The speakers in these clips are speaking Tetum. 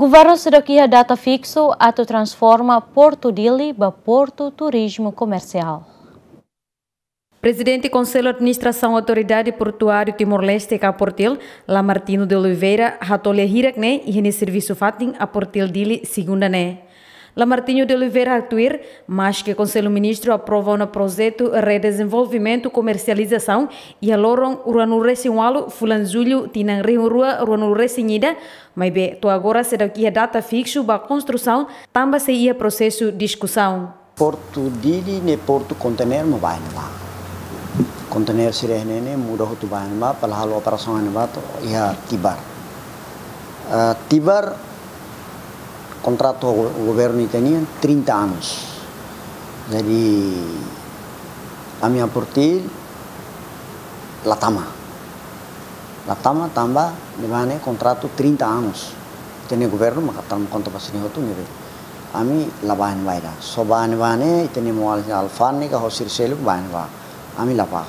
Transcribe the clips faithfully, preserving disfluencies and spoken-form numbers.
Governu seidauk iha data fiksu atu transforma Portu Dili ba portu turizmu komersiál. Prezidente Konsellu Administrasaun Autoridade Portuáriu Timor-Leste ka Aportil, Lamartino de Oliveira, hato'o lia hirak ne'e iha nia servisu fatin Aportil Dili, segunda ne'e. Lamartino de Oliveira haktuir, maske Konsellu Ministru aprova ona projetu redezenvolvimentu komersializasaun iha loron ruanulu-resin-ualu fulan Jullu tinan rihun rua ruanulu-resin-ida, maibé to'o agora seidauk iha data fiksu ba konstrusaun, tanba sei iha prosesu diskusaun. Portu Dili ne'e portu konteiner mak ba iha ne'ebá. Konteiner sira ne'e ne'e muda hotu ba iha ne'ebá, para halo operasaun iha ne'ebá to'o iha Tibar. Ah, Tibar kontratu go-, governu ita-nian trinta anos. Jadi, ami Aportil la tama. La tama tanba ne'ebá ne'e kontratu trinta anos. Ita-nia governu maka tama konta ba sira-ne'e hotu ne'ebé ami la ba iha ne'ebá ida. Só ba iha ne'ebá ne'e ita-nia maun-alin alfándega ho sira seluk ba iha ne'ebá. Ami la ba.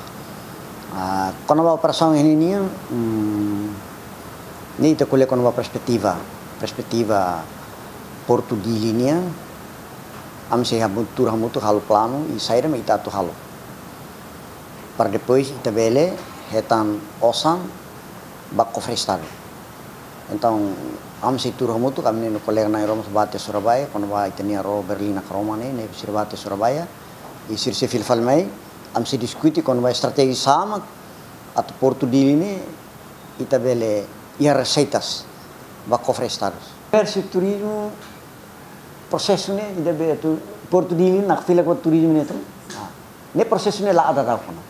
Ah, kona-ba operasaun iha ne'e nian, hmm, ne'e ita ko'alia kona-ba perspetiva, perspetiva Portu Dili nian, ami sei hamu-, tuur hamutuk halo planu i saida mak ita atu halo. Para depois ita bele hetan osan ba kofre Estadu. Entaun, ami sei tuur hamutuk, ami-nia kolega na'in rua mós bá tiha Surabaya, kona-ba ita-nia ró Berlin Nakroma ne'e, ne'e sira bá tiha Surabaya, i sira sei fila fali mai, ami sei diskute kona-ba estratéjia sá mak atu Portu Dili ne'e ita bele iha reseitas ba kofre Estadu. Komérsiu, turizmu, prosesu ne'e ida be atu Portu Dili nakfilak ba turizmu ne'e tan. Ah, ne'e prosesu ne'e la ada tau kona.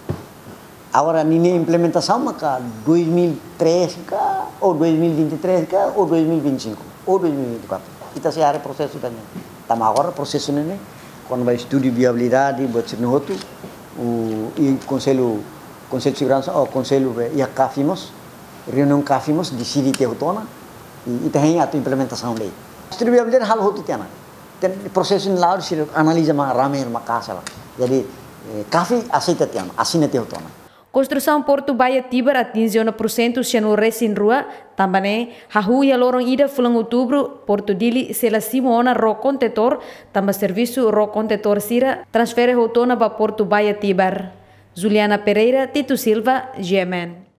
Agora ninia implementasaun maka dois mil e três ka, ou dois mil e vinte e três ka, ou dois mil e vinte e cinco, ou dois mil e vinte e quatro. Ita sei haree prosesu ida-ne'e. Tanba agora prosesu ne'e ne'e, kona-ba estudu viabilidade, buat sira-ne'e hotu, o, i Konsellu, Konsellu Seguransa, ou Konsellu be, iha CAFI mós, reuniaun CAFI mós, deside tiha hotu ona, i, ita hein atu implementasaun lei. Estudu viabilidade halo hotu tiha ona. Tan prosesu ne'e la'o sira analiza mak rame mak kasa la. Jadi, eh, CAFI aseita tiha ona, asina tiha hotu ona. Konstrusaun Portu Baía Tibar atinje ona pursentu sianulu-resin-rua, tanba ne'e, hahú iha loron ida fulan Outubru, Portu Dili sei la simu ona ró kontentór, tanba servisu ró kontentór sira transfere hotu ona ba Portu Baía Tibar. Juliana Pereira, Tito Silva, G M N.